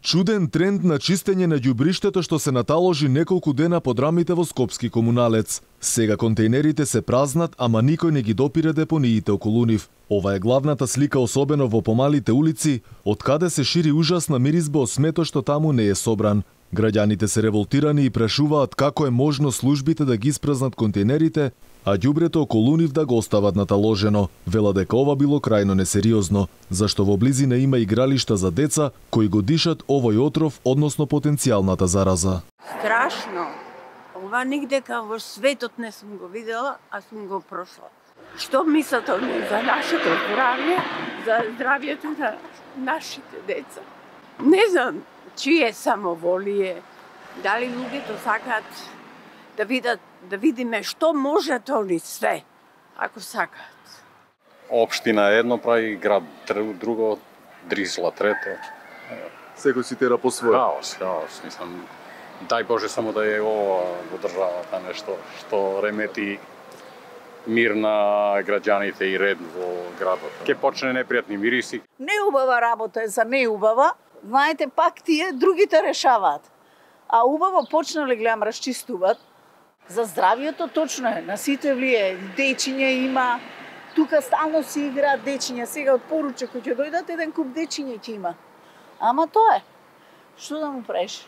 Чуден тренд на чистење на ѓубриштето што се наталожи неколку дена под рамите во Скопски комуналец. Сега контейнерите се празнат, ама никој не ги допира депониите околу нив. Ова е главната слика особено во помалите улици, од каде се шири ужасна миризба од смето што таму не е собран. Граѓаните се револтирани и прашуваат како е можно службите да ги испразнат контейнерите, а ѓубрето околу нив да го остават наталожено. Вела дека ова било крајно несериозно, зашто во близина има игралишта за деца кои го дишат овој отров, односно потенцијалната зараза. Страшно. Ова нигдека во светот не сум го видела, а сум го прошла. Што мислат они за нашето здравје, за здравјето на нашите деца? Не знам чие самоволие, дали луѓето сакаат да видиме што можат они све, ако сакаат. Општина едно прави, град друго, Дрисла трето. Секој си тера по своје. Хаос, мислам. Дај Боже само да е ова во државата нешто што ремети мир на граѓаните и ред во градот. Ке почне непријатни мириси. Неубава работа е за неубава. Знаете, пак тие другите решаваат. А убаво почнале, гледам, расчистуваат. За здравјето точно е, на сите влие, дечиња има, тука стално си играат дечиња, сега од поруче кој ќе дојдат еден куп дечиња ќе има. Ама тоа е, што да му правиш?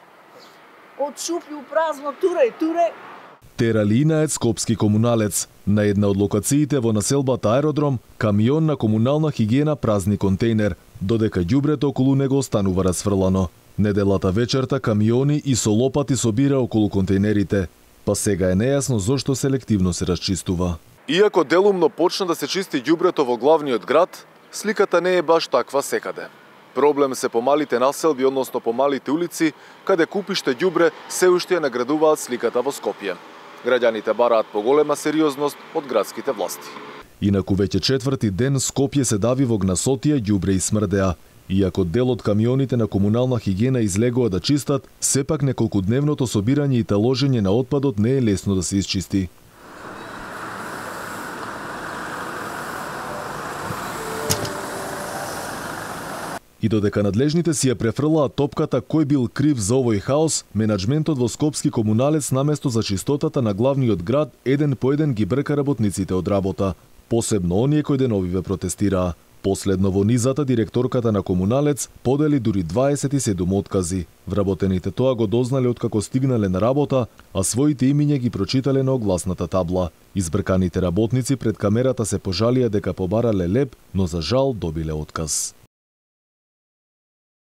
Од шупљу празно, туре. Тералинаец Скопски комуналец. На една од локациите во населбата Аеродром, камион на комунална хигиена празни контейнер, додека ѓубрето околу него останува расфрлано. Неделата вечерта камиони и со лопати собира околу контейнерите, па сега е нејасно зошто селективно се расчистува. Иако делумно почна да се чисти ѓубрето во главниот град, сликата не е баш таква секаде. Проблем се помалите населби, односно помалите улици, каде купиште ѓубре се уште ја наградуваат сликата во Скопје. Граѓаните бараат поголема сериозност од градските власти. Инаку веќе четврти ден Скопје се дави во гнасотија, ѓубре и смрдеа. Иако дел од камионите на комунална хигиена излегува да чистат, сепак неколкудневното собирање и таложење на отпадот не е лесно да се исчисти. И додека надлежните си ја префрлаат топката кој бил крив за овој хаос, менаџментот во Скопски комуналец наместо за чистотата на главниот град еден по еден ги брка работниците од работа. Посебно оние кои деновиве протестираа. Последно во низата директорката на комуналец подели дури 27 откази. Вработените тоа го дознале откако стигнале на работа, а своите имиња ги прочитале на огласната табла. Избрканите работници пред камерата се пожалија дека побарале леп, но за жал добиле отказ.